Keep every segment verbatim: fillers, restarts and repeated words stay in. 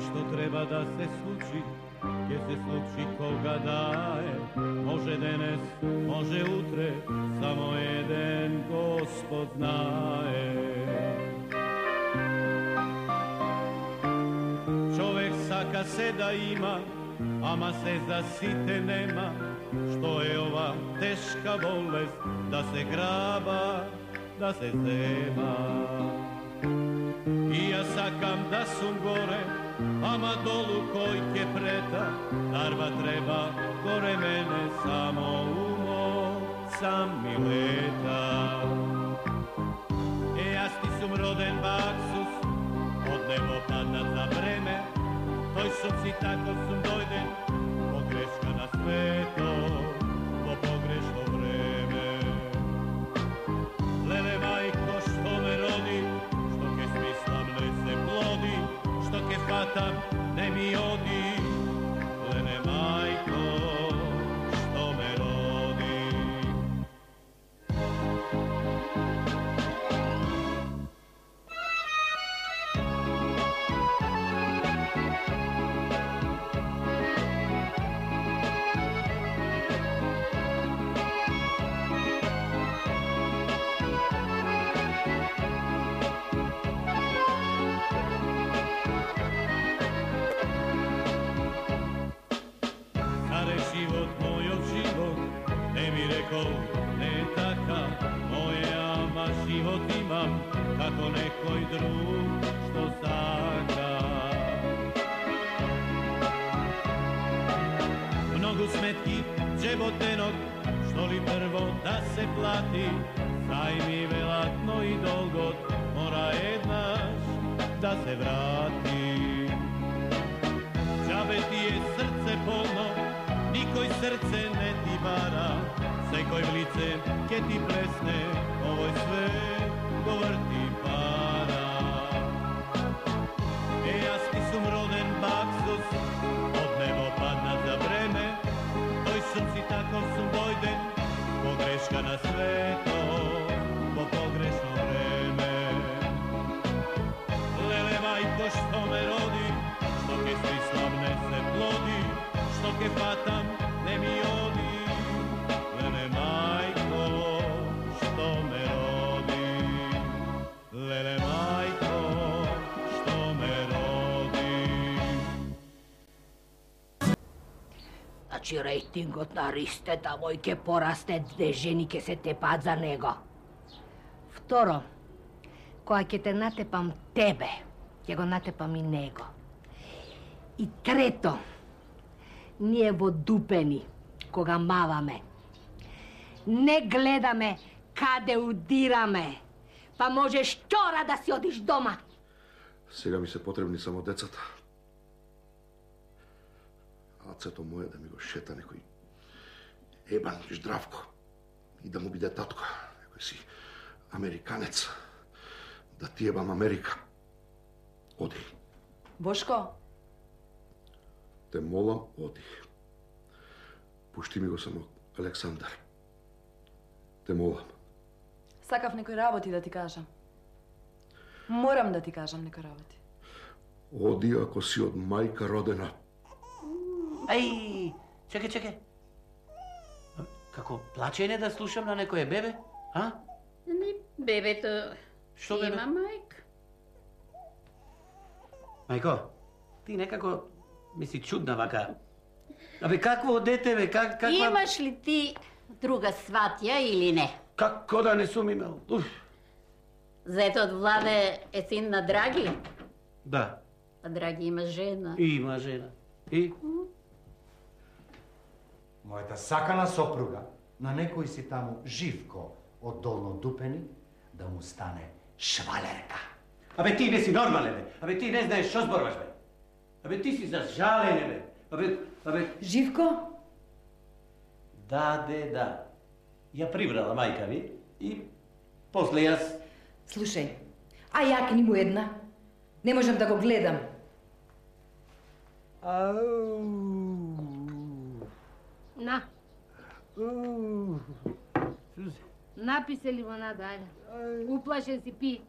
Што треба да се случи, ќе се случи кога да е. Може денес, може утре, само еден Господ знае. Човек сака се да има, ама се за сите нема. Што е ова тешка болест, да се граба, да се зема. И јас сакам да сум горе, ама долу кој ке прета, дарба треба горе мене, само умо сам ми лета. Е, јас ти сум роден баксус, од небо паднат за време, тој сум си тако сум дојден, погрешка на свето, по погрешно време. Леле мајко што ме роди, што ке смислам не се плоди, што ке фатам не ми оди, леле мајко што ме роди. Не е така, моје, ама живот имам, како некој друг што сака. Многу сметки, джеботенок, што ли прво да се плати, зајми велатно и долгот, мора еднаш да се врати. Џабе ти е срце полно, никој срце не ти бара, секој в лице ке ти плесне, овој свет го врти пара. Е, јас ти сум роден баксус, од небо паднат за време, тој сум си тако сум дојден, погрешка на свето, по погрешно време. Леле мајко што ме роди, што ке смислам не се плоди, што ке фатам не ми оди. Леле мајко што ме роди, леле мајко што ме роди. Значи рейтингот на Ристета мој ке порасте, две жени ке се тепаат за него. Второ, кога ќе те натепам тебе, ќе го натепам и него. И трето, ние во Дупени, кога маваме, не гледаме каде удираме, па можеш вчора да си одиш дома. Сега ми се потребни само децата. Ацето моје да ми го шета некој ебан Здравко и да му биде татко, некој си американец, да ти ебам Америка. Оди. Бошко? Те молам, оди. Пушти ми го само Александар. Те молам. Сакав некои работи да ти кажам. Морам да ти кажам некои работи. Оди ако си од мајка родена. Ај, чекај, чекај. Како плачење да слушам на некое бебе, а? Не, бебето Што бебе? има мајка. Мајко, ти некако ми си чудна вака. Абе, какво дете, бе, как, каква... Имаш ли ти друга сватја или не? Како да не сум имал? Уф. Зетот Владе е син на Драги? Да. А Драги има жена. Има жена. И? Мојата сакана сопруга, на некој си таму Живко од Долно Дупени, да му стане швалерка. Абе, ти не си нормален, бе. Абе, ти не знаеш што зборуваш, бе. Абе, ти си за жалење, бе. Абе, абе... Живко? Да, де, да. Ја прибрала мајка ви и После јас. Слушај, а јакни му една. Не можам да го гледам. На. Напи се лимонада, ајде. Уплашен си, пи.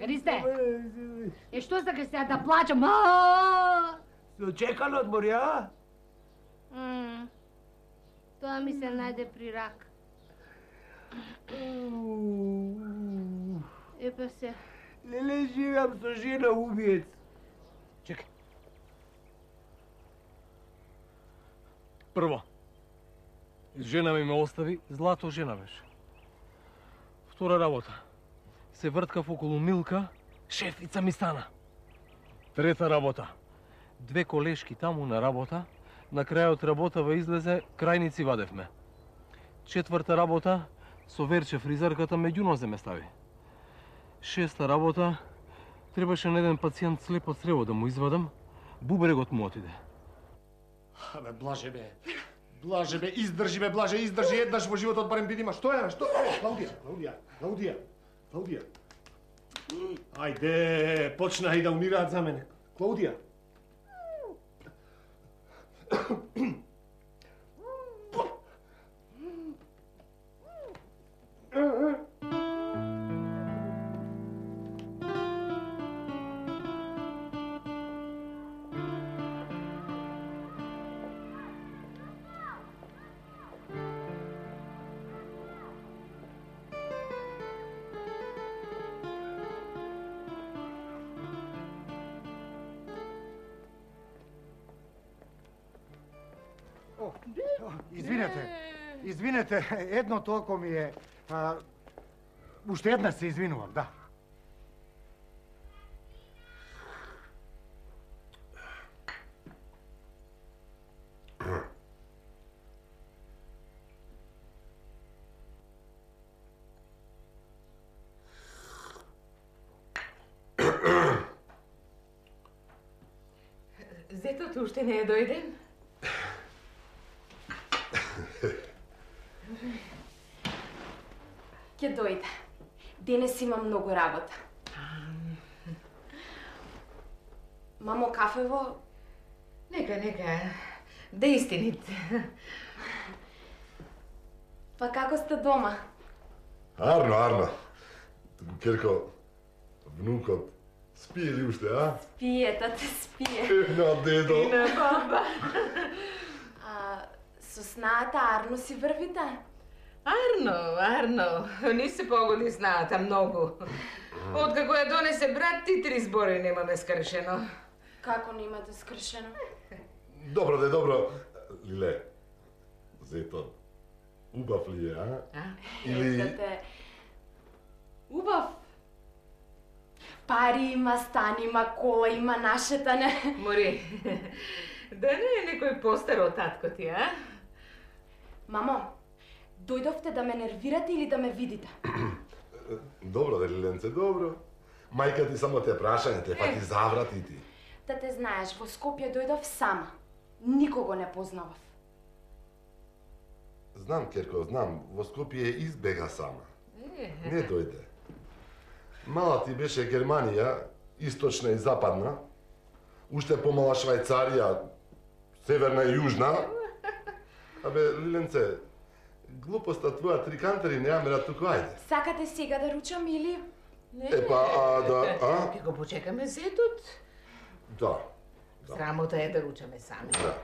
Ристе, е што сакаш сега да плачам? Се очекан одмор, ја? Тоа ми се најде при рак. Епа се. Леле, живеам со жена убиец. Чекај. Прво, жена ми ме остави, злато жена беше. Втора работа, се врткав околу Милка, шефица ми стана. Трета работа, две колешки таму на работа, на крајот работава излезе, крајници вадевме. Четврта работа, со Верче фризерката меѓу нозе ме стави. Шеста работа, требаше на еден пациент слеп од црево да му извадам, бубрегот му отиде. Абе, Блаже бе, Блаже бе, издржи бе, Блаже, издржи, еднаш во животот барем видима, што е, што е, Клаудија, Клаудија, Клаудија, Клаудија. Ајде, почна и да умираат за мене. Клаудија. Извинете, извинете, едно толку ми е... А, уште една се извинувам, да. Зетото уште не е дојден? Ќе дојде. Денес има многу работа. Мамо, кафево? Нека, нека. Да истинит. Па како сте дома? Арно, Арно. Керко, внукот, спие ли уште, а? Спие, тате, спие. На дедо. И на баба. А, со снаата Арно си врвите? Арно, Арно, ни се погоди снаата многу. Откако ја донесе брат, ти три збори немаме скршено. Како не имате скршено? Добро, де, добро. Лиле, зето, убав ли е, а? А? Или... Тате, убав. Пари има, стан има, кола има, нашата не. Мори, да не е некој постар од татко ти, а? Мамо, дојдовте да ме нервирате или да ме видите? Добро, де, Лиленце, добро. Мајка ти само те прашање, те па ти заврати ти. Да те знаеш, во Скопје дојдов сама. Никого не познавав. Знам, Керко, знам, во Скопје избега сама. Не дојде. Мала ти беше Германија, источна и западна, уште помала Швајцарија, северна и јужна. Абе, Лиленце, глупоста твоја трикантери не ја мера туку, ајде. Сакате сега да ручам или... Епа, а, да, а? Ќе го почекаме зетот. Да. Да. Срамота е да ручаме сами. Да.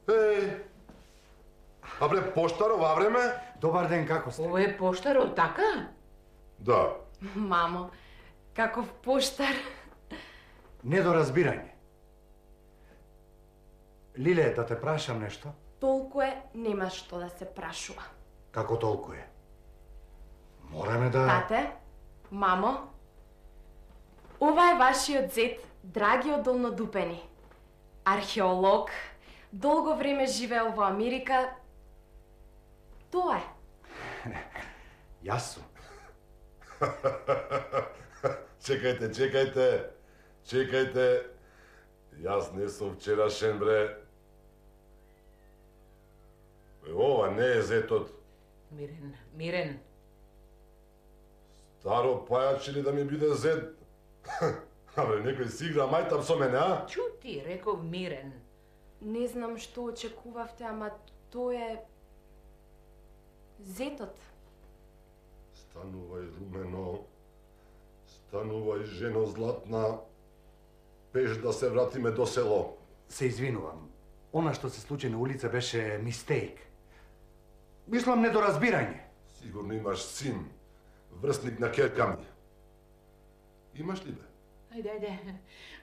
Еј, а бре, поштар ова време? Добар ден, како сте? Ова е поштаро, така? Да. Мамо, каков поштар. Недоразбирање. Лиле, да те прашам нешто? Толку е, нема што да се прашува. Како толку е? Мораме да... Тате, мамо, ова е вашиот зет, Драгиот Долнодупени. Археолог, долго време живеел во Америка. Тоа е. Јас сум. Чекајте, чекајте, чекајте. Јас не сум вчерашен, бре. Е, ова не е зетот. Мирен, Мирен. Старо пајач или да ми биде зет? Абе, некој си игра мајтам со мене, а? Чути, реков Мирен. Не знам што очекувавте, ама тој е... зетот. Станувај, Румено. Станувај, жено златна. Пеш да се вратиме до село. Се извинувам. Она што се случи на улица беше мистейк. Мислам недоразбирање. Сигурно имаш син, врсник на керка ми. Имаш ли бе? Ајде, ајде.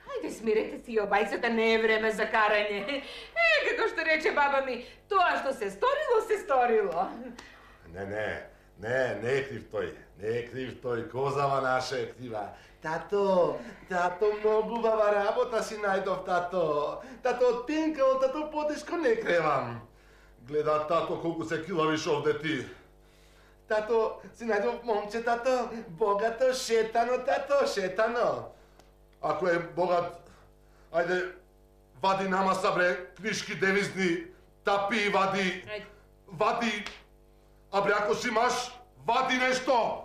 Ајде, смирете си обајцата, не е време за карање. Е, како што рече баба ми, тоа што се сторило, се сторило. Не, не, не, не е крив тој. Не е крив тој, козава наша е крива. Тато, тато, многу баба работа си најдов, тато. Тато, од пенкаво, тато, потешко не кревам. Гледа, тато, колку се килавиш овде ти. Тато, си најдов момче, тато, богато, шетано, тато, шетано. Ако е богат, ајде, вади нама са, бре, книшки девизни, тапи, вади, вади, а бре, ако си имаш, вади нешто.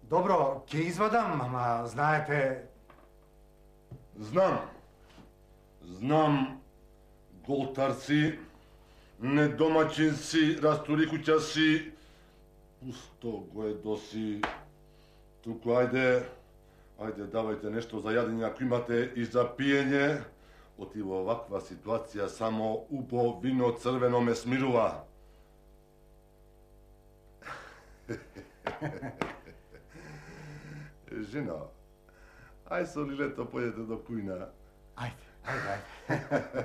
Добро, ќе извадам, ама знаете... Знам. Знам, голтар си, недомачен си, расторикуќа си, пусто го е доси. Туку, ајде, ајде, давајте нешто за јадење ако имате и за пиење. Оти во оваква ситуација само убо вино црвено ме смирува. Жено, ај со лилето појдете до кујна. Ајде, ајде, ајде.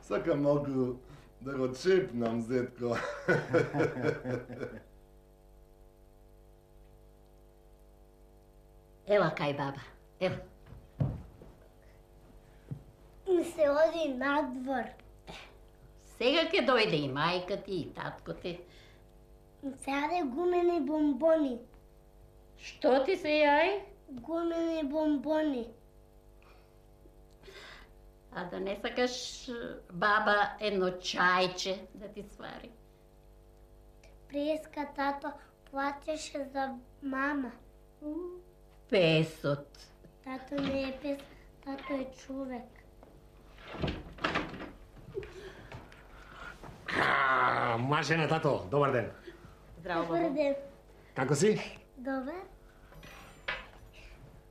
Сакам малку да го чепнам, зетко. Ела кај баба, ела. Ми се оди надвор. Сега ќе дојде и мајка ти, и татко ти. Се јаде гумени бомбони. Што ти се јај? Гумени бомбони. А да не сакаш баба едно чајче да ти свари? Преска тато платеше за мама. Песот. Тато не е пес, тато е човек. А, Машена, тато, добар ден. Здраво, Добар ден. Како си? Добар.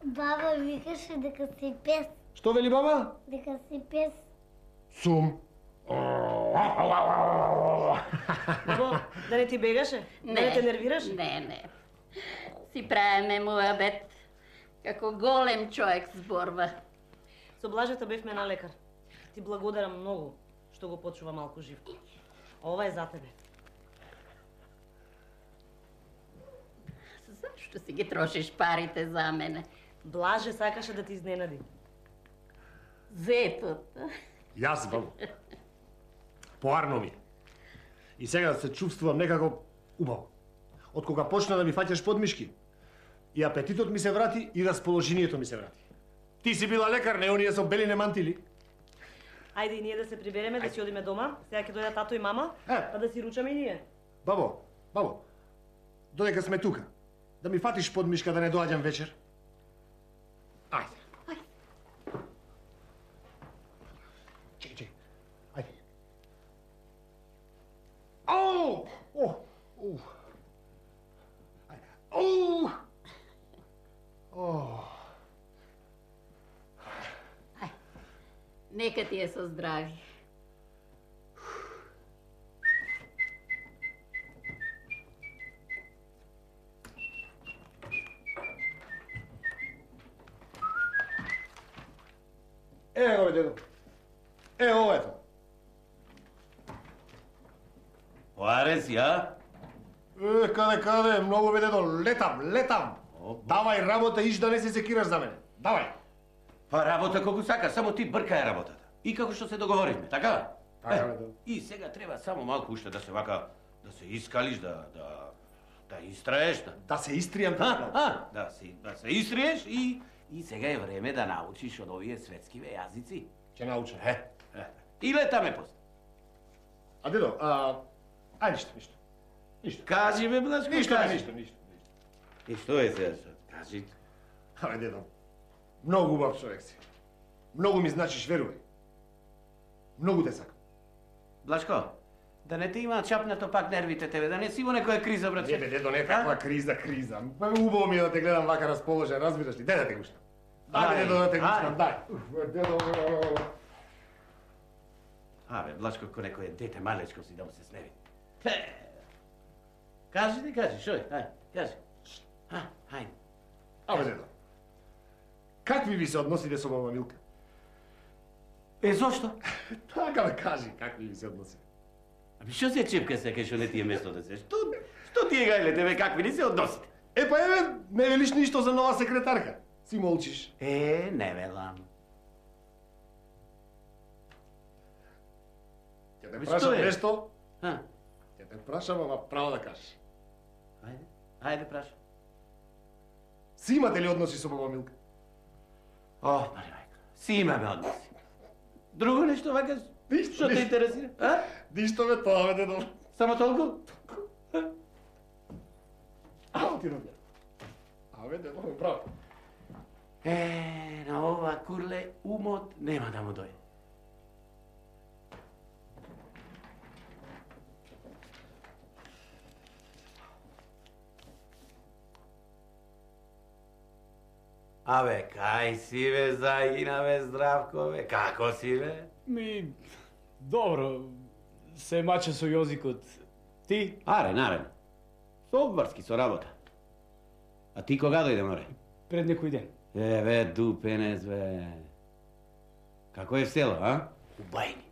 Баба викаше дека си пес. Што вели баба? Дека си пес. Сум. Бабо, да не ти бегаше? Да не те нервираше? Не, не. Си правиме муабет. Како голем човек зборва. Со Блажета бевме на лекар. Ти благодарам многу што го почува малку Живко. Ова е за тебе. Зашто си ги трошиш парите за мене? Блаже сакаше да ти изненади. Зетот. Јас, бабо. Поарно ми. И сега се чувствувам некако убаво. Од кога почна да ми фаќаш подмишки, и апетитот ми се врати, и расположението ми се врати. Ти си била лекар, не оние со белине мантили? Ајде и ние да се прибереме, да си одиме дома. Сега ќе дојдат тато и мама, па да си ручаме и ние. Бабо, бабо, додека сме тука, да ми фатиш подмишка да не доаѓам вечер? Ајде. Ајде. Чекай, чекай. Ајде. Ау! О! О! Ајде. Оу! О! Нека ти е со здрави. Е, го дедо. Е, ова ето. Поаре си, а? Е, каде, каде, многу бе дедо, летам, летам. Давај работа, иш да не се секираш за мене. Давај. Па работа колку сака, само ти бркај работата. И како што се договоривме, така? Така, Е, бе, да. И сега треба само малку уште да се вака, да се искалиш, да, да, да истраеш, да... Да се истријам, а, а, да се, да се истриеш и, и сега е време да научиш од овие светскиве јазици. Ќе научам. Е, е. И летаме после. А дедо, а... Ај, ништо, ништо. Ништо. Кажи ме, Блашко, Ништо, кажи. ништо, ништо. И што е сега? Кажи. Абе, дедо, многу убав човек си. Многу ми значиш, верувај. Многу те сакам. Блашко, да не те има чапнато пак нервите тебе, да не си во некоја криза, брат. Не бе, дедо, не каква криза, криза. Па убаво ми е да те гледам вака расположен, разбираш ли? Дај да те гушнам. Дај, дедо, да те гушнам, дај. Дедо... Абе, Блашко, ко некој дете малечко си да му се сневи. Кажи ти, кажи, шој, ај, кажи. А, ајде. Абе, дедо, какви ви се односите со мама Милка? Е, зошто? Така да кажи, какви ви се односите. Аби, што се чепка сега, што не ти е место да се? Што, што ти е гајле тебе, какви ли се односите? Е, па еве, не велиш ништо за нова секретарка. Си молчиш. Е, не велам. Ќе те прашам нешто? А? Ќе те прашам, ама право да кажеш. Ајде, ајде прашам. Си имате ли односи со мама Милка? О, мари мајка, си имаме односи. Друго нешто вака, што те интересира? А? Ништо ме тоа, бе, дедо. Само толку? Ао ти робја. Абе, дедо, право. Е, на ова курле умот нема да му дојде. Абе, кај си бе, Загина бе, Здравко бе, како си бе? Ми, добро, се мача со јозикот. Ти? Арен, арен. Со обврски, со работа. А ти кога дојде, море? Пред некој ден. Е, бе, дупенец, бе. Како е в село, а? У Бајни.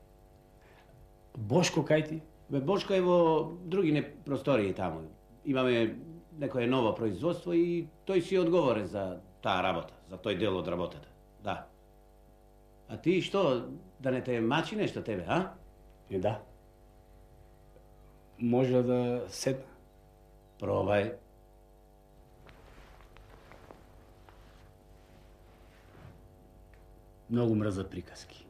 Бошко, кај ти? Бе, Бошко е во други не простории таму. Имаме некое ново производство и тој си одговорен за таа работа, за тој дел од работата. Да. А ти што, да не те мачи нешто тебе, а? Е, да. Може да седна. Пробај. Многу мрзат приказки.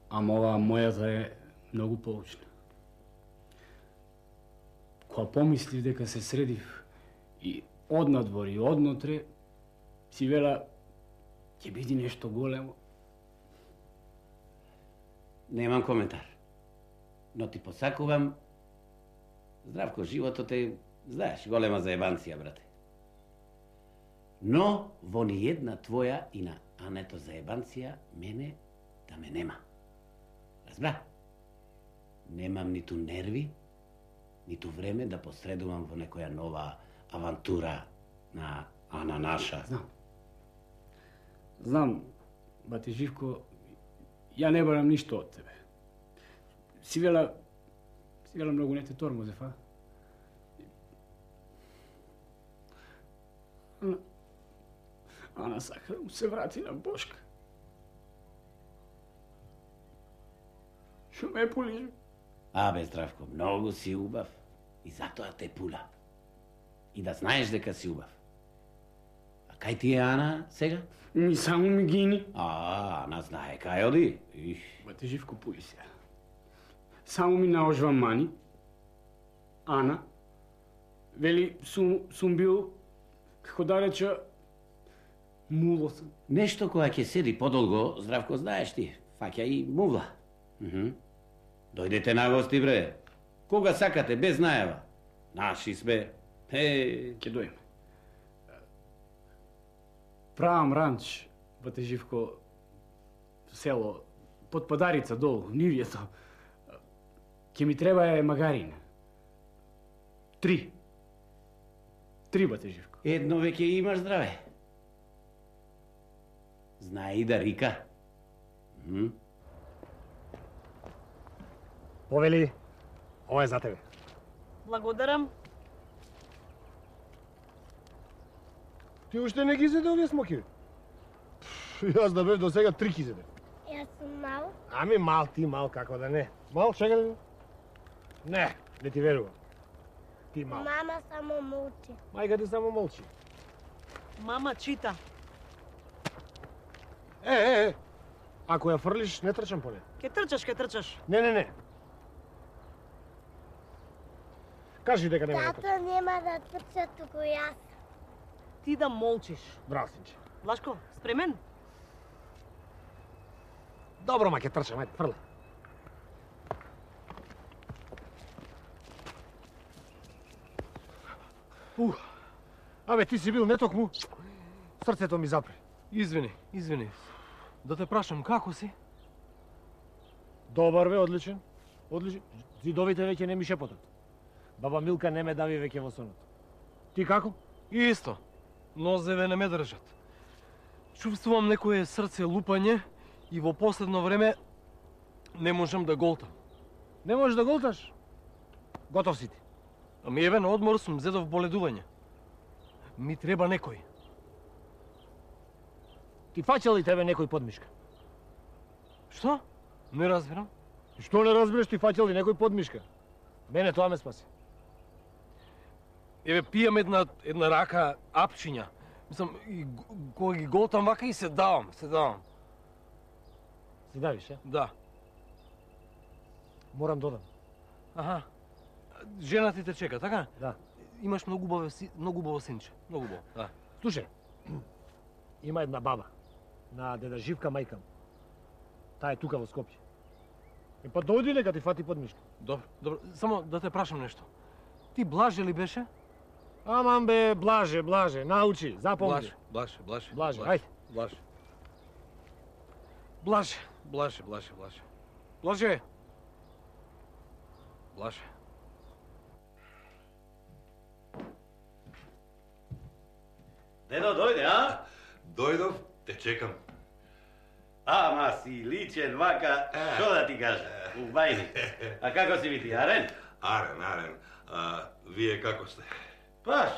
Ама оваа мојата е многу поучна. Кога помислив дека се средив и однадвор и однотре, си вела, ќе биде нешто големо. Немам коментар. Но ти посакувам, Здравко, животот е, знаеш, голема заебанција, брате. Но во ни една твоја и на Ането заебанција, мене да ме нема. Разбра? Немам ниту нерви, ниту време да посредувам во некоја нова авантура на Ана наша. Знам. Знам, бате Живко, ја не барам ништо од тебе. Си вела, си вела многу не те тормозев, а? Ана, Ана сака да му се врати на Бошка. Шо ме е полижи? Абе, Здравко, многу си убав и затоа те пула. И да знаеш дека си убав. А кај ти е Ана сега? Ми само ми гини. А, Ана знае кај оди. Их. Бате Живко, пуи се. Само ми наожва мани. Ана, вели, сум, сум бил, како да реча, муло сам. Нешто која ќе седи подолго, Здравко, знаеш ти, фаќа и мувла. Мхм. Дојдете на гости, бре. Кога сакате, без најава. Наши сме. Е, ќе дојме. Правам ранч, бате Живко, село, под Падарица долу, нивјето. Ќе ми треба е магарина. Три. Три, бате Живко. Едно веќе имаш, здраве. Знае и да рика. Мхм. Повели, ова е за тебе. Благодарам. Ти уште не ги зеде овие смоки? Јас да бев до сега три ги зеде. Јас сум мал. Ами мал ти, мал, како да не. Мал, чека да... Не, не ти верувам. Ти мал. Мама само молчи. Мајка ти само молчи. Мама чита. Е, е, е. Ако ја фрлиш, не трчам по неја. Ке трчаш, ке трчаш. Не, не, не. кажи дека нема да Тато нема да трча, туку јас. Ти да молчиш. Браво, синче. Влашко, спремен? Добро, ма ќе трчам, ајде, фрле. Ух, абе, ти си бил нетокму. Срцето ми запре. Извини, извини. Да те прашам, како си? Добар бе, одличен. Одличен. Зидовите веќе не ми шепотат. Баба Милка не ме дави веќе во сонот. Ти како? И исто. Нозеве не ме држат. Чувствувам некое срце лупање и во последно време не можам да голтам. Не можеш да голташ? Готов си ти. Ами еве на одмор сум зедов боледување. Ми треба некој. Ти фаќал ли тебе некој подмишка? Што? Не разбирам. Што не разбираш, ти фаќал ли некој подмишка? Мене тоа ме спаси. Еве пијам една една рака апчиња. Мислам, и кога ги голтам вака и се давам, се давам. Се давиш, е? Да. Морам додам. Аха. Жена ти те чека, така? Да. Имаш многу убаво си, многу убаво синче. Многу убаво, да. Слушај, има една баба на деда Живка мајка му. Таа е тука во Скопје. И па дојди нека ти фати подмишка. Добро, добро. Само да те прашам нешто. Ти Блаже ли беше? Аман бе, Блаже, Блаже, научи, запомни. Блаже, Блаже, Блаже. Блаже, ајде. Блаже. Блаже, Блаже, Блаже, Блаже. Блаже. Блаже. Дедо, дојде, а? Дојдов, те чекам. Ама си личен вака, што да ти кажа, у бајни. А како си ви ти, Арен? Арен, Арен. А, вие како сте? Паш,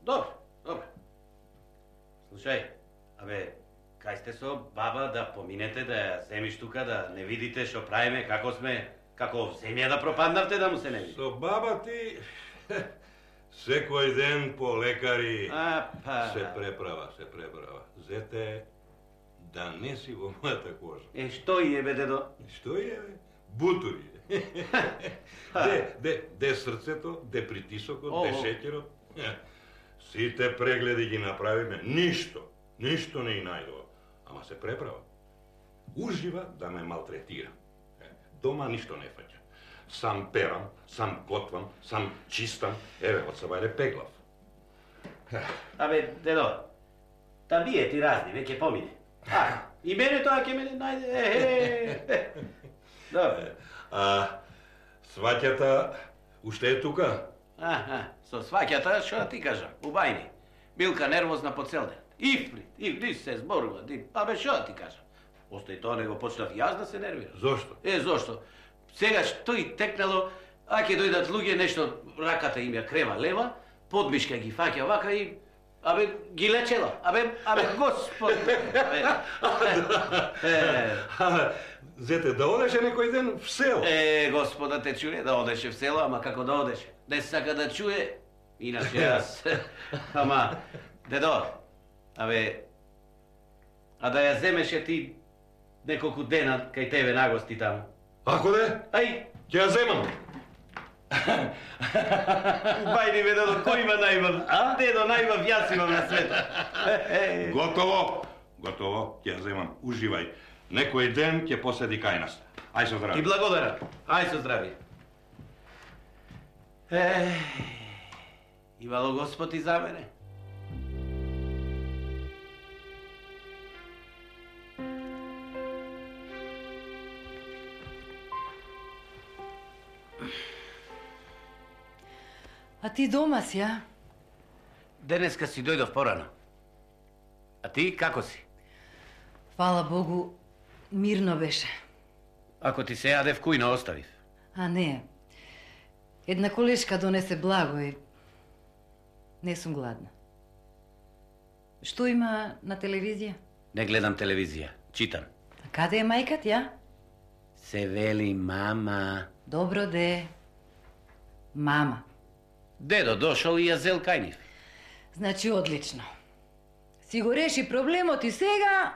добро, добро. Слушај, абе, кај сте со баба да поминете, да ја земиш тука, да не видите што правиме, како сме, како в земја да пропаднавте да му се не види. Со баба ти... Секој ден по лекари а, па... се преправа, се преправа. Зете, да не си во мојата кожа. Е, што и е, бе, дедо? Што и е, бе? Бутури. Де, де, де срцето, де притисокот, О, де шеќерот. Сите прегледи ги направиме, ништо, ништо не и најдува. Ама се преправа. Ужива да ме малтретира. Дома ништо не фаќа. Сам перам, сам готвам, сам чистам. Еве, од сабајле пеглав. Абе, дедо, та бие ти разни, веќе помине. А, и мене тоа ќе мене најде, е, е, добре. А, сваќата уште е тука? Аха, со сваќата, што да ти кажам, у бајни. Милка нервозна по цел ден. Ифрит, ифрит се зборува, ди, абе, што да ти кажам. Остои тоа, него почнав јас да се нервирам. Зошто? Е, зошто? Сегаш тој текнало, а ќе дојдат луѓе, нешто раката им ја крема лева, подмишка ги фаќа вака и абе ги лечела. Абе, абе господ. Абе, зете, да одеше некој ден в село. Е, господа те чуе да одеше в село, ама како да одеше? Не сака да чуе, иначе јас. Ама, дедо, абе, а да ја земеше ти неколку дена кај тебе нагости таму. Ако де? Ај! Ќе ја земам. Бајди бе, дедо, кој има најмав? А? Дедо, најмав јас имам на света. Готово, готово, ќе ја земам. Уживај. Некој ден ќе поседи кај нас. Ај со здравје. Ти благодарам. Ај со здравје. Е, имало Господ и за мене. А ти дома си, а? Денеска си дојдов порано. А ти како си? Фала Богу, мирно беше. Ако ти се јадев, кујно оставив. А не. Една колешка донесе благо и не сум гладна. Што има на телевизија? Не гледам телевизија, читам. А каде е мајка ти, а? Се вели мама. Добро де. Мама. Дедо дошол и ја зел кај нив. Значи, одлично. Си го реши проблемот и сега...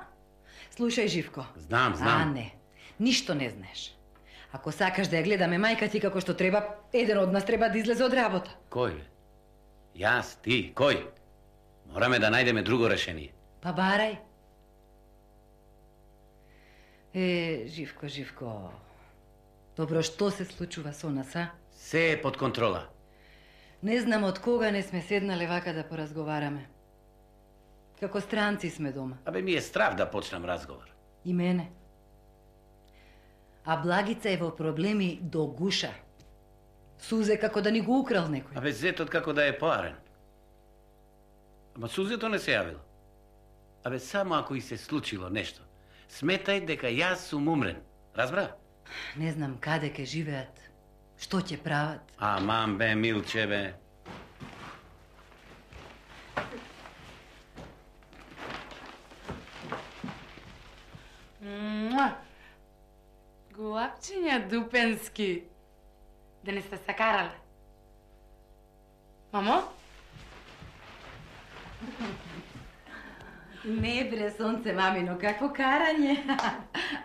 Слушај, Живко. Знам, знам. А, не. Ништо не знаеш. Ако сакаш да ја гледаме мајка ти како што треба, еден од нас треба да излезе од работа. Кој бе? Јас, ти, кој? Мораме да најдеме друго решение. Па барај. Е, Живко, Живко. Добро, што се случува со нас, а? Се е под контрола. Не знам од кога не сме седнале вака да поразговараме. Како странци сме дома. Абе, ми е страв да почнам разговор. И мене. А Благица е во проблеми до гуша. Сузе како да ни го украл некој. Абе, зетот како да е поарен. Ама Сузето не се јавило. Абе, само ако и се случило нешто, сметај дека јас сум умрен. Разбра? Не знам каде ке живеат. Што ќе прават? Аман бе, Милче бе. Муа! Голапчиња Дупенски. Да не сте сакарале? Мамо? Не бре, сонце, мамино, какво карање?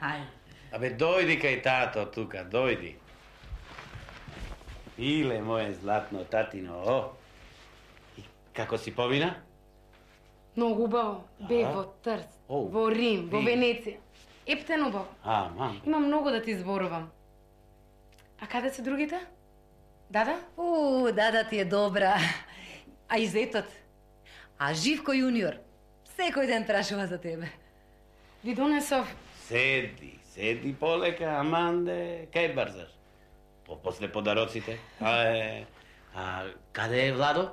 Ајде. Абе, дојди кај тато тука, дојди. Иле, моje златно татино, о. И како си помина? Многу убаво. Бег во Трст, во Рим, во Венеција. Ептен убаво. А, мам. Имам многу да ти зборувам. А каде се другите? Дада? У, дада ти е добра. А и зетот. А Живко јуниор секој ден прашува за тебе. Ви донесов. Седи, седи полека, Аманде. Кај брзаш? По после подароците. А, е, а каде е Владо?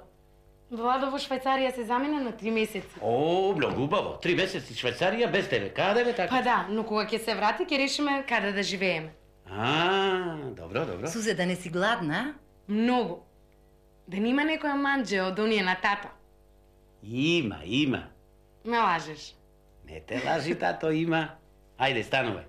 Владо во Швајцарија се замина на три месеци. О, многу убаво. Три месеци Швајцарија без тебе. Каде бе така? Па да, но кога ќе се врати, ќе решиме каде да живееме. А, добро, добро. Сузе, да не си гладна? Многу. Да нема некоја манџе од оние на тата. Има, има. Ме лажеш. Не те лажи, тато, има. Ајде, станувај.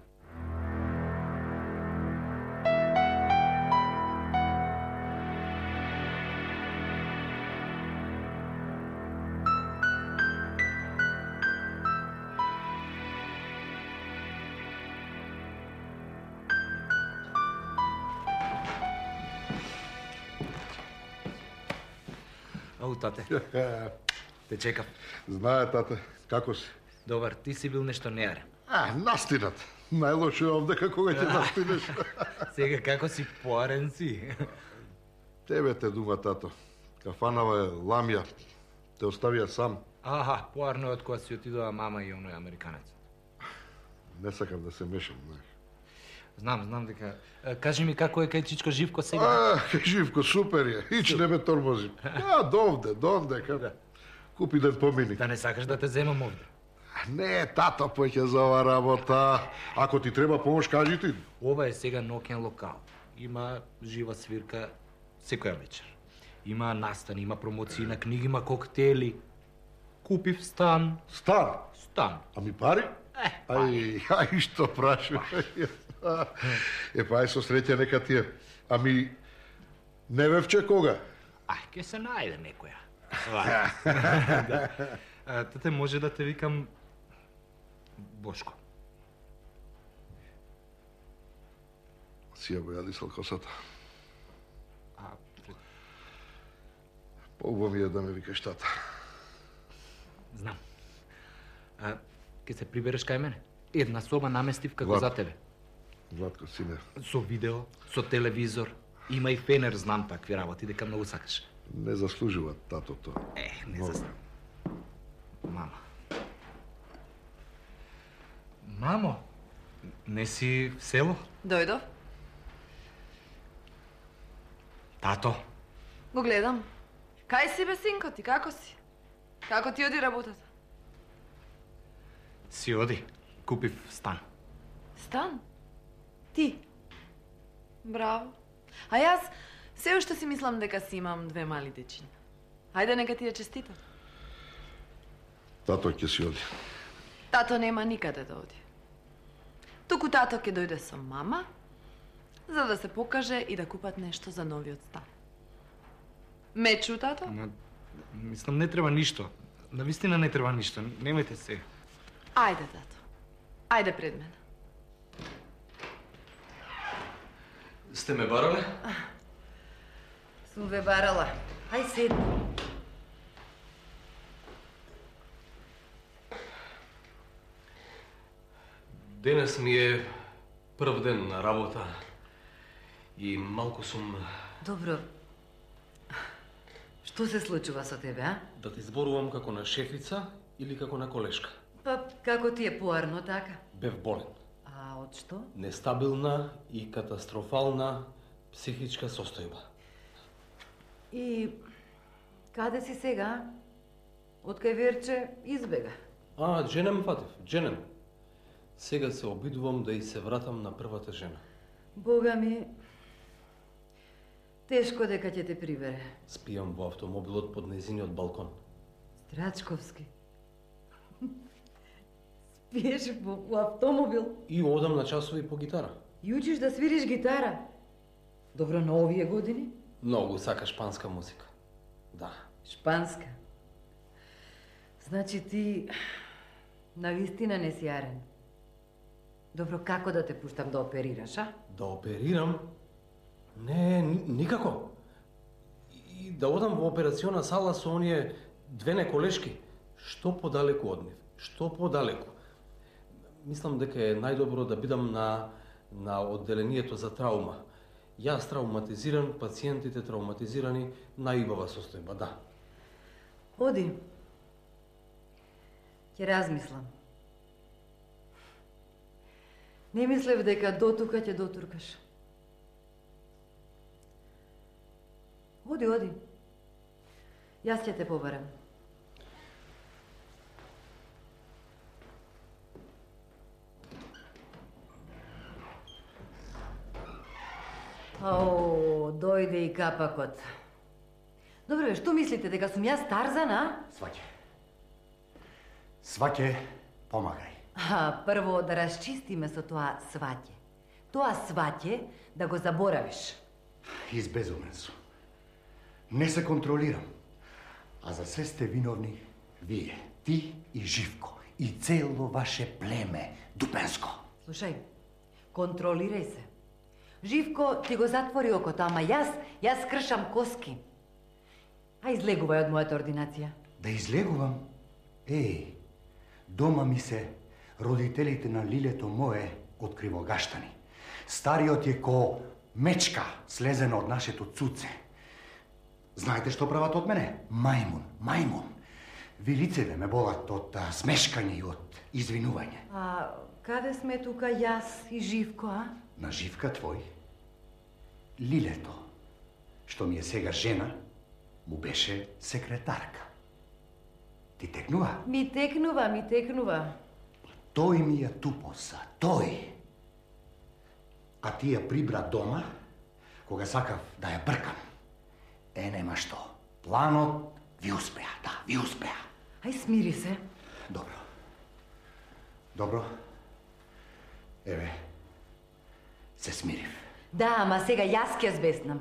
Ау, тате. Те чекам. Знае, тате. Како си? Добар, ти си бил нешто неарен. А, настинат. Најлошо е овде кога ќе настинеш. Сега како си поарен си? Тебе те дума, тато. Кафанава е ламја. Те оставија сам. Аха, поарно е од кога си отидоа мама и оној американец. Не сакам да се мешам, знаеш. Знам, знам дека... Кажи ми како е кај Чичко Живко сега? А, Живко, супер е. Ич не ме тормози. А, довде, довде. Купи ден помини. Да не сакаш да те земам овде? Не, тато поќе за ова работа. Ако ти треба помош, кажи ти. Ова е сега ноќен локал. Има жива свирка секоја вечер. Има настани, има промоции на книги, има коктели. Купив стан. Стан? Стан. Ами пари? Е, пари. Ај, ај, што прашуваш? Е, па ај со среќа нека ти е. Ами, не вевче кога? Ај, ке се најде некоја. Да. А, тате, може да те викам Бошко. Си ја го јадисал косата. А, Поубаво ми е да ме викаш тата. Знам. А, ке се прибереш кај мене? Една соба наместив како Влад. за тебе. Владко, сине. Со видео, со телевизор. Има и фенер, знам такви работи, дека многу сакаш. Не заслужува татото. Е, не Много. заслужува. Мама. Мамо, не си в село? Дојдов. Тато. Го гледам. Кај си бе, синко ти, како си? Како ти оди работата? Си оди. Купив стан. Стан? Ти? Браво. А јас се уште си мислам дека си имам две мали дечиња. Ајде, нека ти ја честитам. Тато ќе си оди. Тато нема никаде да оди. Туку тато ќе дојде со мама, за да се покаже и да купат нешто за новиот стан. Ме чу, тато? Ма, мислам, не треба ништо. Навистина не треба ништо. Немајте се. Ајде, тато. Ајде пред мене. Сте ме барале? Сум ве барала. Ај седни. Денес ми е прв ден на работа и малку сум... Добро. Што се случува со тебе, а? Да ти зборувам како на шефица или како на колешка? Па, како ти е поарно така? Бев болен. А од што? Нестабилна и катастрофална психичка состојба. И каде си сега? Откај Верче избега? А, дженем фатив, дженем. Сега се обидувам да и се вратам на првата жена. Бога ми, тешко дека ќе те прибере. Спијам во автомобилот под нејзиниот балкон. Страчковски. Спиеш во, во автомобил? И одам на часови по гитара. И учиш да свириш гитара? Добро на овие години? Многу сака шпанска музика. Да. Шпанска? Значи ти навистина не си арен. Добро, како да те пуштам да оперираш, а? Да оперирам? Не, ни, никако. И да одам во операциона сала со оние две неколешки. Што подалеку од нив? Што подалеку? Мислам дека е најдобро да бидам на, на одделението за траума. Јас травматизиран, пациентите травматизирани, наибава состојба, да. Оди. Ќе размислам. Не мислев дека до тука ќе дотуркаш. Оди, оди. Јас ќе те побарам. О, дојде и капакот. Добре, што мислите, дека сум јас Тарзан, а? Сваќе. Сваќе, помагај. А, прво да расчистиме со тоа сваќе. Тоа сваќе да го заборавиш. Избезумен сум. Не се контролирам. А за се сте виновни вие, ти и Живко, и цело ваше племе, Дупенско. Слушај, контролирај се. Живко ти го затвори окото, ама јас, јас кршам коски. А излегувај од мојата ординација. Да излегувам? Еј, дома ми се родителите на лилето мое од Кривогаштани. Стариот е ко мечка слезена од нашето цуце. Знаете што прават од мене? Мајмун, мајмун. Вилицеве ме болат од а, смешкање и од извинување. А каде сме тука јас и Живко, а? На Живка твој, лилето, што ми е сега жена, му беше секретарка. Ти текнува? Ми текнува, ми текнува. Тој ми ја тупоса, тој. А ти ја прибра дома, кога сакав да ја бркам. Е, нема што. Планот ви успеа, да, ви успеа. Ај, смири се. Добро. Добро. Еве, се смирив. Да, ама сега јас ќе збеснам.